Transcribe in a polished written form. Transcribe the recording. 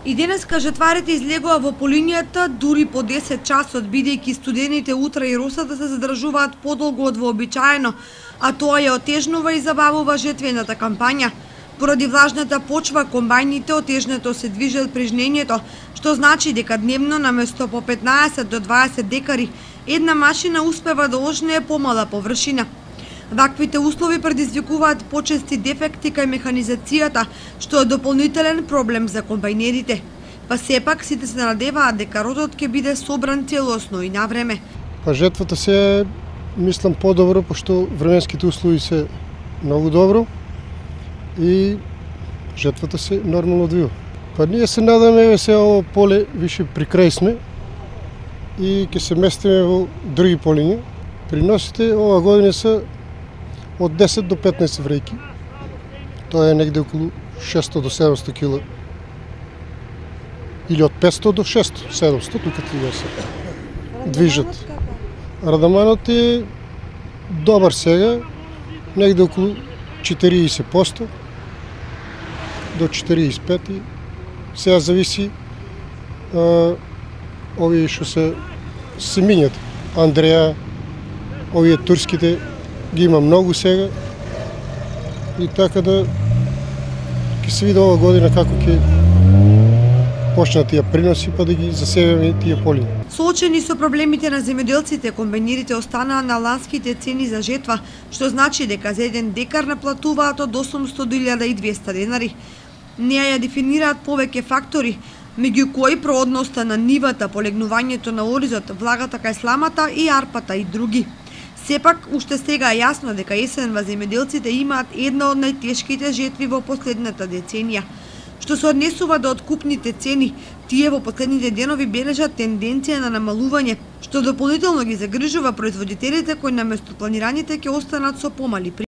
И денеска жетварите излегува во полинијата дури по 10 часот, бидејќи студените утра и росата се задржуваат подолго од вообичаено, а тоа ја отежнува и забавува жетвената кампања. Поради влажната почва, комбајните отежнато се движат при жнењето, што значи дека дневно наместо по 15 до 20 декари, една машина успева да ожнее помала површина. Ваквите услови предизвикуваат почести дефекти кај механизацијата, што е дополнителен проблем за комбајнерите. Па сепак сите се надеваат дека родот ќе биде собран целосно и на време. Па жетвата се мислам подобро, пошто временските услови се многу добро и жетвата се нормално одвива. Па ние се надаме се ово поле више при крај сме и ќе се местиме во други полиња. Приносите ова година се од 10 до 15 врејки. Тоа е негде околу 600 до 700 кила. Или од 500 до 600, 700, тука ти да се движат. Радаманот е добар сега, негде околу 40% до 45%. Сега зависи овие што се минјат. Андреја, овие турските ги има многу сега и така да ќе се види ова година како ќе почнат тие приноси па да ги засееме тие полиња. Соочени со проблемите на земјоделците, комбајнерите останаа на ланските цени за жетва, што значи дека за еден декар наплатуваат од 800 до 1200 денари. Неа ја дефинираат повеќе фактори, меѓу кои проодноста на нивата, полегнувањето на оризот, влагата кај сламата и арпата и други. Сепак, уште сега е јасно дека есенва земјоделците имаат една од најтешките жетви во последната деценија. Што се однесува до откупните цени, тие во последните денови бележат тенденција на намалување, што дополнително ги загрижува производителите кои наместо планираните ќе останат со помали приходи.